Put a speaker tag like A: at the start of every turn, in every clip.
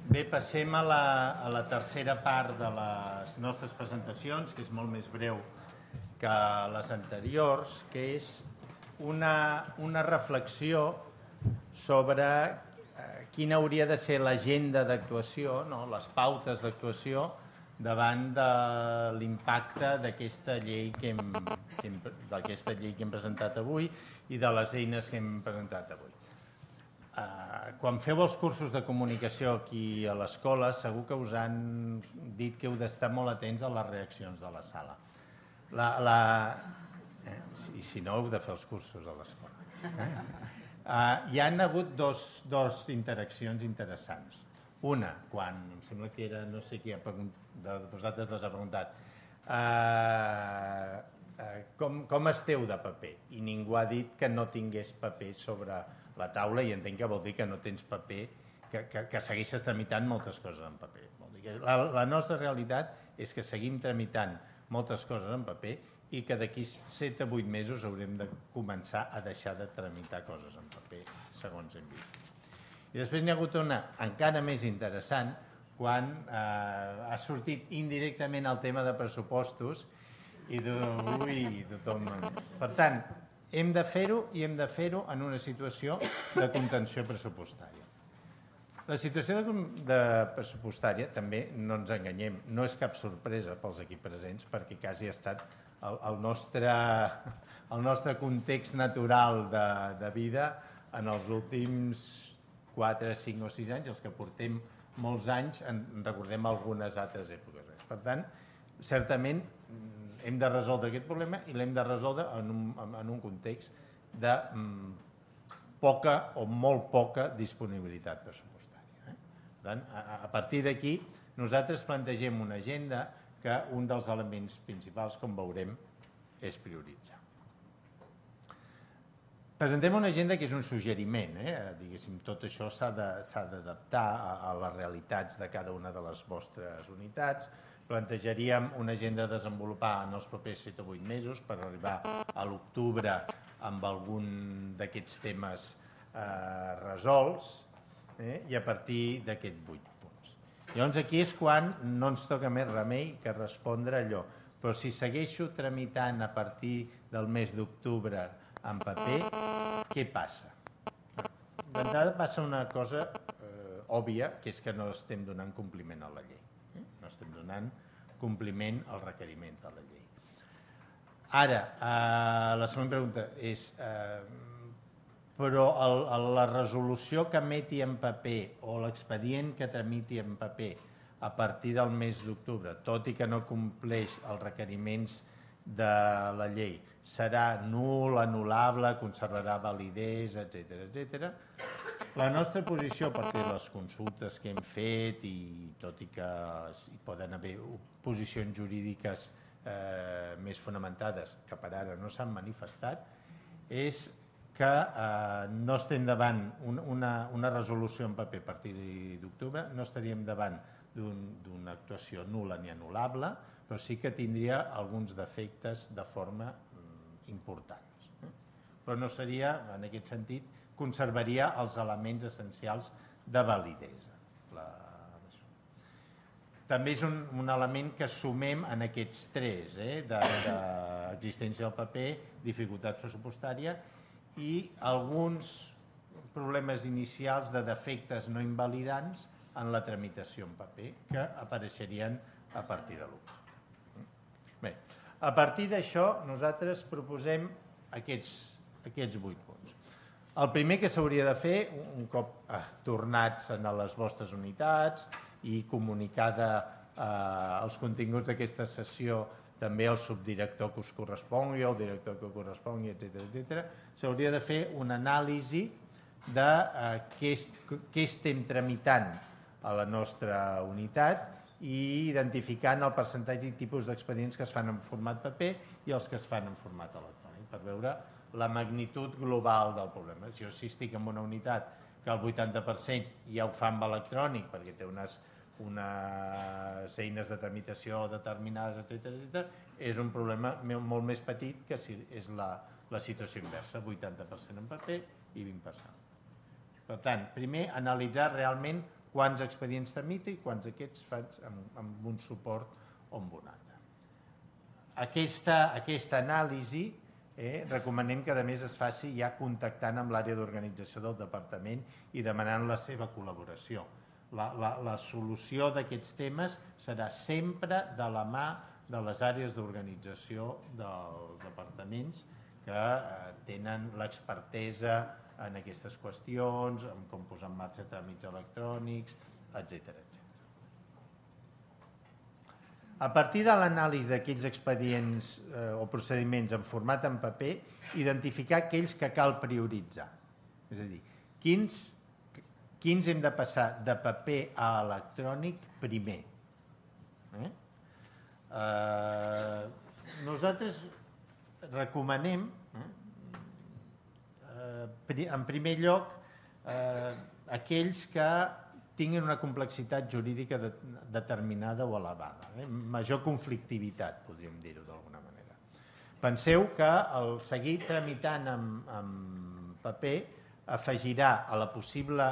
A: Bé, passem a la tercera part de les nostres presentacions, que és molt més breu que les anteriors, que és una reflexió sobre quina hauria de ser l'agenda d'actuació, no? Les pautes d'actuació davant de l'impacte d'aquesta llei que hem presentat avui i de les eines que hem presentat avui. Quan feu els cursos de comunicació aquí a l'escola, segur que us han dit que heu d'estar molt atents a les reaccions de la sala. I si no, heu de fer els cursos a l'escola. Hi han hagut dos interaccions interessants. Una, quan em sembla que era, no sé qui de vosaltres les ha preguntat, com esteu de paper? I ningú ha dit que no tingués paper sobre la taula, i entenc que vol dir que no tens paper, que segueixes tramitant moltes coses en paper. La nostra realitat és que seguim tramitant moltes coses en paper i que d'aquí 7 a 8 mesos haurem de començar a deixar de tramitar coses en paper, segons hem vist. I després n'hi ha hagut una encara més interessant, quan ha sortit indirectament el tema de pressupostos i tothom... Per tant, hem de fer-ho i hem de fer-ho en una situació de contenció pressupostària. La situació de pressupostària, també no ens enganyem, no és cap sorpresa pels aquí presents, perquè quasi ha estat el nostre context natural de vida en els últims 4, 5 o 6 anys, els que portem molts anys, en recordem algunes altres èpoques. Per tant, certament hem de resoldre aquest problema i l'hem de resoldre en un context de poca o molt poca disponibilitat pressupostària. Per tant, a partir d'aquí, nosaltres plantegem una agenda que un dels elements principals, com veurem, és prioritzar. Presentem una agenda que és un suggeriment, diguéssim, tot això s'ha d'adaptar a les realitats de cada una de les vostres unitats. Plantejaríem una agenda a desenvolupar en els propers 7 o 8 mesos per arribar a l'octubre amb algun d'aquests temes resolts i a partir d'aquests 8 punts. Llavors aquí és quan no ens toca més remei que respondre allò. Però si segueixo tramitant a partir del mes d'octubre en paper, què passa? D'entrada passa una cosa òbvia, que és que no estem donant compliment a la llei. No estem donant compliment als requeriments de la llei. Ara, la següent pregunta és, però la resolució que emeti en paper o l'expedient que tramiti en paper a partir del mes d'octubre, tot i que no compleix els requeriments de la llei, serà nul, anul·lable, conservarà validesa, etc. La nostra posició, a partir de les consultes que hem fet, i tot i que hi poden haver posicions jurídiques més fonamentades, que per ara no s'han manifestat, és que no estem davant una resolució en paper a partir d'octubre, no estaríem davant d'una actuació nul·la ni anul·lable, però sí que tindria alguns defectes de forma importants. Però no seria, en aquest sentit, conservaria els elements essencials de validesa. També és un element que sumem en aquests 3, d'existència del paper, dificultats pressupostàries i alguns problemes inicials de defectes no invalidants en la tramitació en paper que apareixerien a partir de l'1. Bé, a partir d'això nosaltres proposem aquests 8 punts. El primer que s'hauria de fer, un cop tornats a les vostres unitats i comunicada els continguts d'aquesta sessió també al subdirector que us correspongui, al director que us correspongui, etc., s'hauria de fer una anàlisi de què estem tramitant a la nostra unitat i identificant el percentatge i tipus d'expedients que es fan en format paper i els que es fan en format electrònic, per veure la magnitud global del problema. Si estic en una unitat que el 80% ja ho fa amb electrònic perquè té unes eines de tramitació determinades, etc., és un problema molt més petit que si és la situació inversa, 80% en paper i 20%. Per tant, primer, analitzar realment quants expedients tramito i quants d'aquests faig amb un suport o amb un altre. Aquesta anàlisi recomanem que a més es faci ja contactant amb l'àrea d'organització del departament i demanant la seva col·laboració. La solució d'aquests temes serà sempre de la mà de les àrees d'organització dels departaments que tenen l'expertesa en aquestes qüestions, en com posar en marxa tràmits electrònics, etc. A partir de l'anàlisi d'aquells expedients o procediments en format en paper, identificar aquells que cal prioritzar. És a dir, quins hem de passar de paper a electrònic primer. Nosaltres recomanem, en primer lloc, aquells que tinguin una complexitat jurídica determinada o elevada, major conflictivitat, podríem dir-ho d'alguna manera. Penseu que el seguir tramitant en paper afegirà a la possible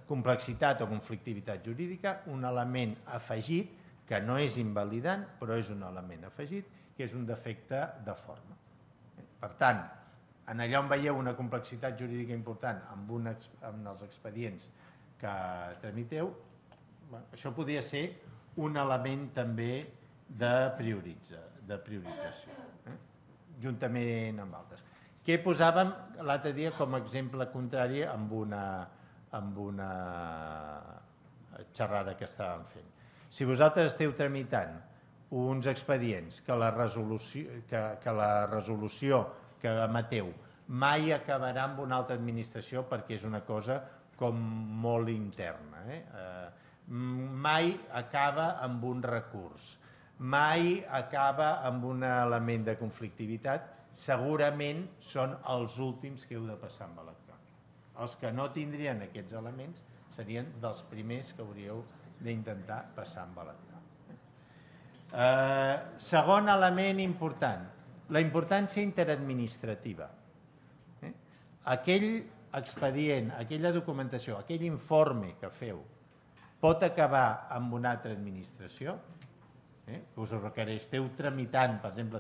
A: complexitat o conflictivitat jurídica un element afegit que no és invalidant, però és un element afegit, que és un defecte de forma. Per tant, en allà on veieu una complexitat jurídica important amb els expedients que tramiteu, això podria ser un element també de priorització, juntament amb altres. Què posàvem l'altre dia com a exemple contrari amb una xerrada que estàvem fent? Si vosaltres esteu tramitant uns expedients que la resolució que emeteu mai acabarà amb una altra administració perquè és una cosa com molt interna, mai acaba amb un recurs, mai acaba amb un element de conflictivitat, segurament són els últims que heu de passar amb electrònic. Els que no tindrien aquests elements serien dels primers que hauríeu d'intentar passar amb electrònic. Segon element important, la importància interadministrativa. Aquell expedient, aquella documentació, aquell informe que feu pot acabar amb una altra administració, que us ho requereix. Esteu tramitant, per exemple,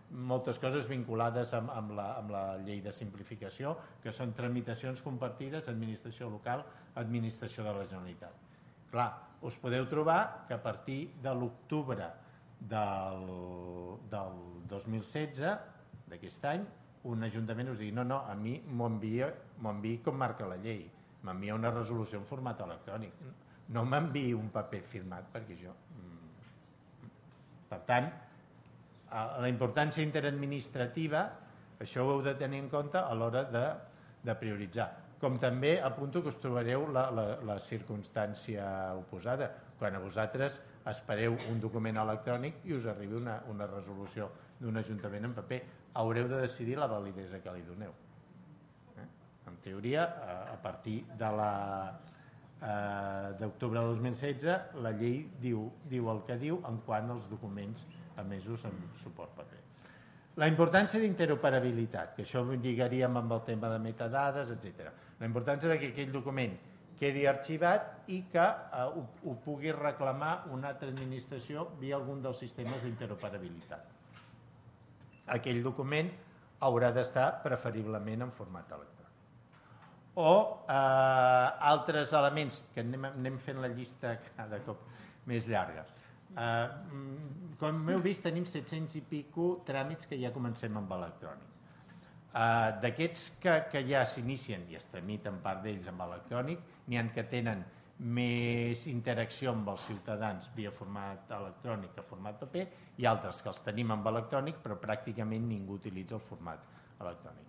A: moltes coses vinculades amb la llei de simplificació, que són tramitacions compartides, administració local, administració de la Generalitat. Clar, us podeu trobar que a partir de l'octubre del 2016, d'aquest any, un ajuntament us digui no, a mi m'ho enviï com marca la llei, m'envia una resolució en format electrònic, no m'enviï un paper firmat perquè jo... Per tant, la importància interadministrativa, això ho heu de tenir en compte a l'hora de prioritzar. Com també apunto que us trobareu la circumstància oposada, quan a vosaltres espereu un document electrònic i us arribi una resolució d'un ajuntament en paper, haureu de decidir la validesa que li doneu. En teoria, a partir d'octubre de 2016, la llei diu el que diu en quant als documents emesos amb suport paper. La importància d'interoperabilitat, que això ho lligaríem amb el tema de metadades, etc. La importància que aquell document quedi arxivat i que ho pugui reclamar una altra administració via algun dels sistemes d'interoperabilitat. Aquell document haurà d'estar preferiblement en format electrònic. O altres elements, que anem fent la llista cada cop més llarga. Com heu vist, tenim 700 i pico tràmits que ja comencem amb electrònic. D'aquests que ja s'inicien i es tramiten part d'ells amb electrònic, n'hi ha que tenen més interacció amb els ciutadans via format electrònic que format paper i altres que els tenim amb electrònic però pràcticament ningú utilitza el format electrònic.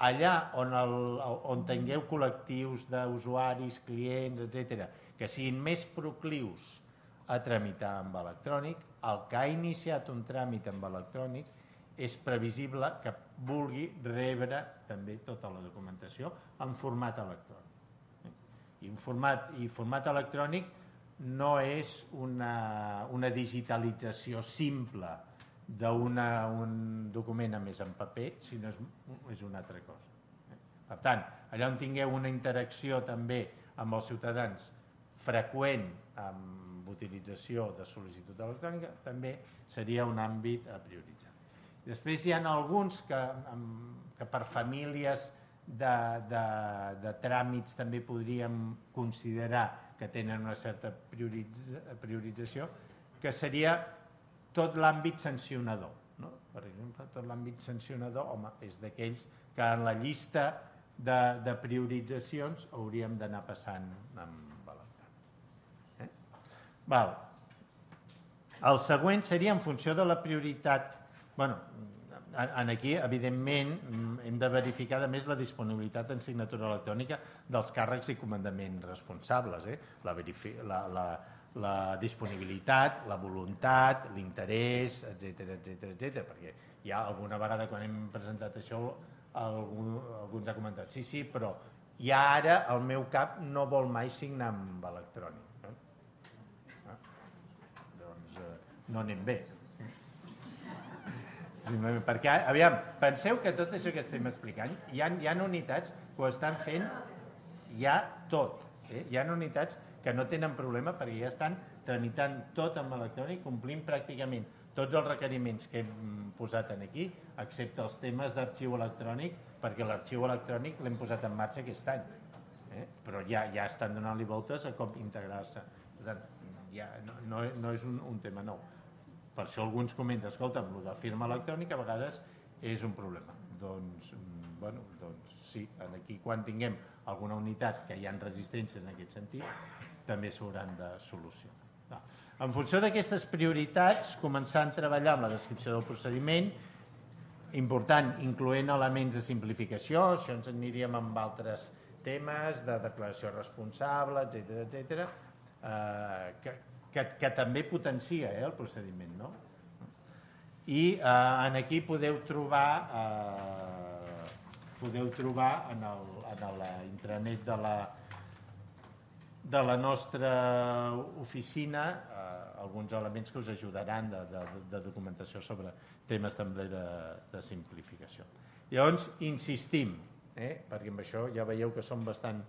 A: Allà on tingueu col·lectius d'usuaris, clients, etc., que siguin més proclius a tramitar amb electrònic, el que ha iniciat un tràmit amb electrònic és previsible que vulgui rebre també tota la documentació en format electrònic. I format electrònic no és una digitalització simple d'un document a més en paper, sinó és una altra cosa. Per tant, allà on tingueu una interacció també amb els ciutadans freqüent amb utilització de sol·licitud electrònica, també seria un àmbit a prioritzar. Després hi ha alguns que per famílies de tràmits també podríem considerar que tenen una certa priorització, que seria tot l'àmbit sancionador. Per exemple, tot l'àmbit sancionador, home, és d'aquells que en la llista de prioritzacions hauríem d'anar passant amb electrònic. El següent seria en funció de la prioritat. Aquí, evidentment, hem de verificar a més la disponibilitat en signatura electrònica dels càrrecs i comandaments responsables, la disponibilitat, la voluntat, l'interès, etc. Perquè hi ha alguna vegada quan hem presentat això algú ens ha comentat sí, però ja ara el meu cap no vol mai signar amb electrònic. Doncs no anem bé. Perquè, aviam, penseu que tot això que estem explicant, hi ha unitats que ho estan fent ja tot. Hi ha unitats que no tenen problema perquè ja estan tramitant tot amb electrònic, complint pràcticament tots els requeriments que hem posat aquí, excepte els temes d'arxiu electrònic, perquè l'arxiu electrònic l'hem posat en marxa aquest any. Però ja estan donant-li voltes a com integrar-se. Per tant, no és un tema nou. Per això alguns comenten, escolta, amb el de firma electrònica a vegades és un problema. Doncs sí, aquí quan tinguem alguna unitat que hi ha resistències en aquest sentit, també s'hauran de solucionar. En funció d'aquestes prioritats, començar a treballar amb la descripció del procediment, important, incloent elements de simplificació, això ens aniríem amb altres temes de declaració responsable, etc., que també potencia el procediment. I aquí podeu trobar en la intranet de la nostra oficina alguns elements que us ajudaran de documentació sobre temes també de simplificació. Llavors, insistim, perquè amb això ja veieu que som bastant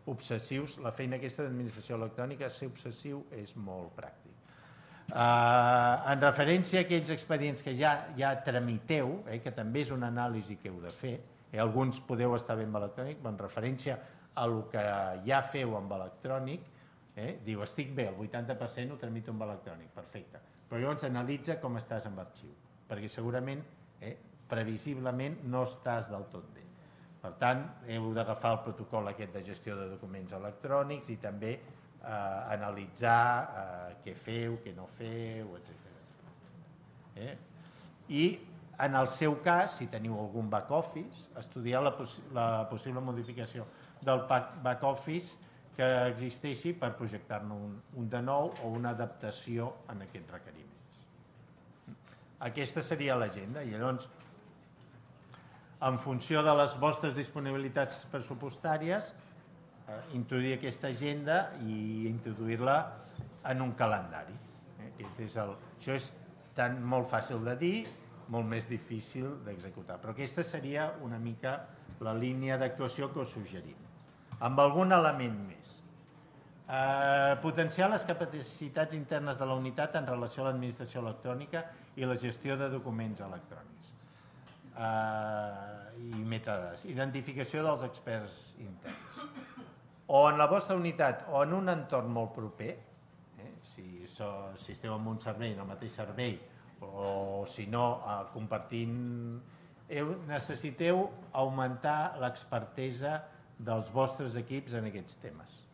A: obsessius, la feina aquesta d'administració electrònica, ser obsessiu és molt pràctic. En referència a aquells expedients que ja tramiteu, que també és una anàlisi que heu de fer, alguns podeu estar bé amb electrònic, però en referència a el que ja feu amb electrònic, diu, estic bé, el 80% ho tramito amb electrònic, perfecte. Però llavors analitza com estàs amb arxiu, perquè segurament, previsiblement, no estàs del tot bé. Per tant, heu d'agafar el protocol aquest de gestió de documents electrònics i també analitzar què feu, què no feu, etc. I en el seu cas, si teniu algun back-office, estudiar la possible modificació del back-office que existeixi per projectar-ne un de nou o una adaptació en aquests requeriments. Aquesta seria l'agenda i llavors, en funció de les vostres disponibilitats pressupostàries, introduir aquesta agenda i introduir-la en un calendari. Això és tant molt fàcil de dir, molt més difícil d'executar. Però aquesta seria una mica la línia d'actuació que us suggerim. Amb algun element més. Potenciar les capacitats internes de la unitat en relació a l'administració electrònica i la gestió de documents electrònics. I metadades. Identificació dels experts interns. O en la vostra unitat o en un entorn molt proper, si esteu en un servei, en el mateix servei, o si no, compartint, necessiteu augmentar l'expertesa dels vostres equips en aquests temes.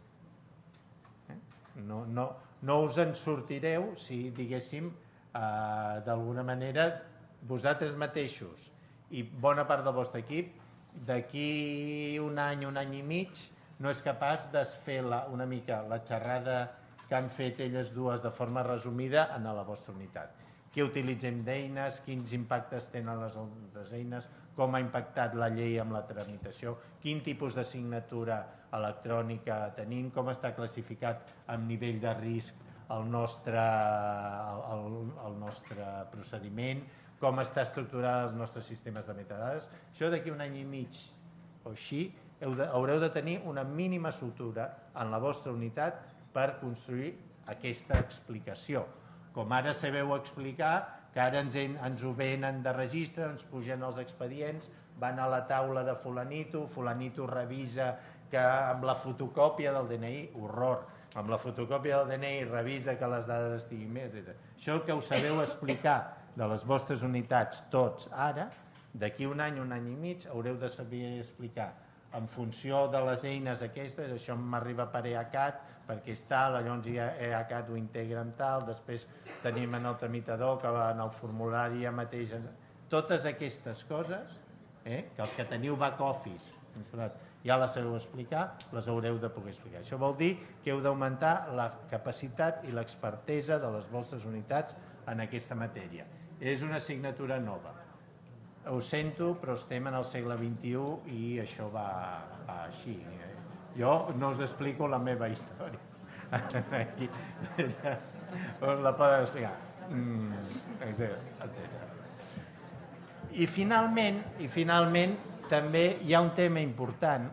A: No us en sortireu si, diguéssim, d'alguna manera, vosaltres mateixos i bona part del vostre equip, d'aquí un any i mig, no és capaç de fer una mica la xerrada que han fet elles dues de forma resumida en la vostra unitat. Què utilitzem d'eines, quins impactes tenen les altres eines, com ha impactat la llei amb la tramitació, quin tipus de signatura electrònica tenim, com està classificat amb nivell de risc el nostre procediment, com està estructurat els nostres sistemes de metadades. Això d'aquí un any i mig o així haureu de tenir una mínima estructura en la vostra unitat per construir aquesta explicació. Com ara sabeu explicar, que ara ens ho venen de registre, ens pugen els expedients, van a la taula de fulanito, fulanito revisa que amb la fotocòpia del DNI, horror, amb la fotocòpia del DNI revisa que les dades estiguin més, etc. Això que us sabeu explicar de les vostres unitats tots ara, d'aquí un any i mig, haureu de saber explicar en funció de les eines aquestes, això m'arriba per EACAT, perquè és tal, llavors EACAT ho integra amb tal, després tenim en el tramitador que va en el formulari ja mateix. Totes aquestes coses, que els que teniu back office instal·lat ja les sabeu explicar, les haureu de poder explicar. Això vol dir que heu d'augmentar la capacitat i l'expertesa de les vostres unitats en aquesta matèria. És una assignatura nova. Ho sento, però estem en el segle XXI i això va així. Jo no us explico la meva història. Us la poden explicar. Etcètera. I finalment, també hi ha un tema important,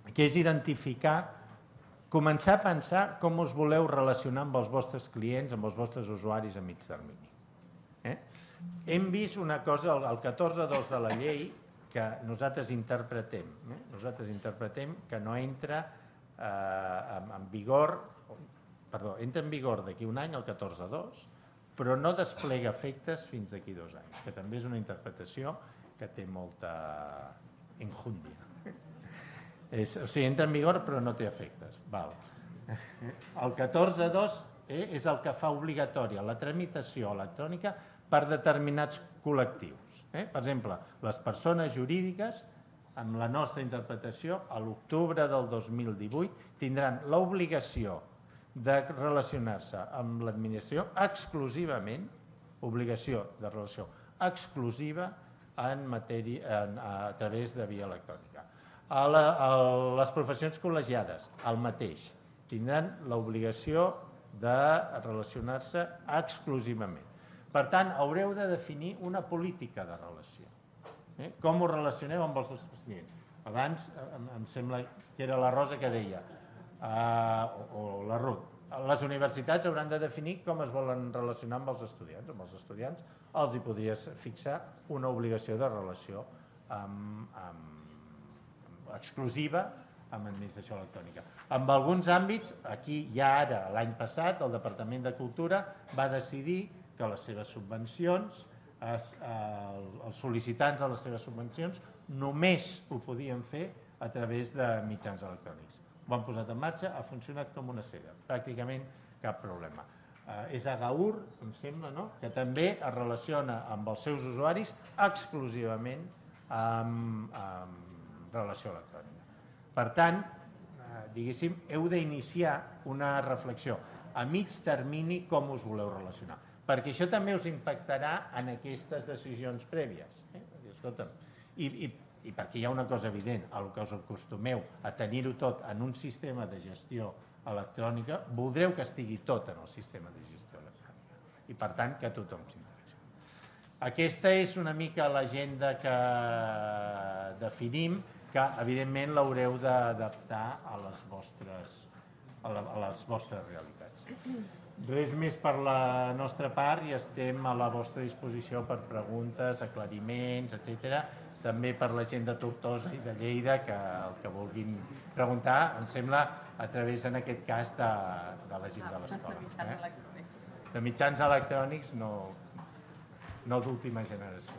A: que és identificar, començar a pensar com us voleu relacionar amb els vostres clients, amb els vostres usuaris a mig termini. Hem vist una cosa, el 14.2 de la llei, que nosaltres interpretem que no entra en vigor, entra en vigor d'aquí un any, el 14.2, però no desplega efectes fins d'aquí 2 anys, que també és una interpretació que té molta enjúndia. O sigui, entra en vigor però no té efectes. El 14.2 és el que fa obligatòria la tramitació electrònica per determinats col·lectius. Per exemple, les persones jurídiques, amb la nostra interpretació, a l'octubre del 2018 tindran l'obligació de relacionar-se amb l'administració exclusivament, obligació de relació exclusiva a través de via electrònica. Les professions col·legiades, el mateix, tindran l'obligació de relacionar-se exclusivament. Per tant, haureu de definir una política de relació. Com us relacioneu amb els vostres clients? Abans em sembla que era la Rosa que deia, o la Ruth, les universitats hauran de definir com es volen relacionar amb els estudiants. Amb els estudiants els hi podries fixar una obligació de relació exclusiva amb administració electrònica. En alguns àmbits, aquí ja ara, l'any passat, el Departament de Cultura va decidir que les seves subvencions, els sol·licitants de les seves subvencions, només ho podien fer a través de mitjans electrònics. Ho han posat en marxa, ha funcionat com una seda, pràcticament cap problema. És Agaur, em sembla, que també es relaciona amb els seus usuaris exclusivament amb relació electrònica. Per tant, diguéssim, heu d'iniciar una reflexió a mig termini com us voleu relacionar, perquè això també us impactarà en aquestes decisions prèvies. Escolta'm, i perquè hi ha una cosa evident, el que us acostumeu a tenir-ho tot en un sistema de gestió electrònica, voldreu que estigui tot en el sistema de gestió electrònica i per tant que tothom s'interaccioni. Aquesta és una mica l'agenda que definim, que evidentment l'haureu d'adaptar a les vostres realitats. Res més per la nostra part i estem a la vostra disposició per preguntes, aclariments, etc. També per la gent de Tortosa i de Lleida, que el que vulguin preguntar, em sembla, a través, en aquest cas, de la gent de l'escola. De mitjans electrònics, no d'última generació.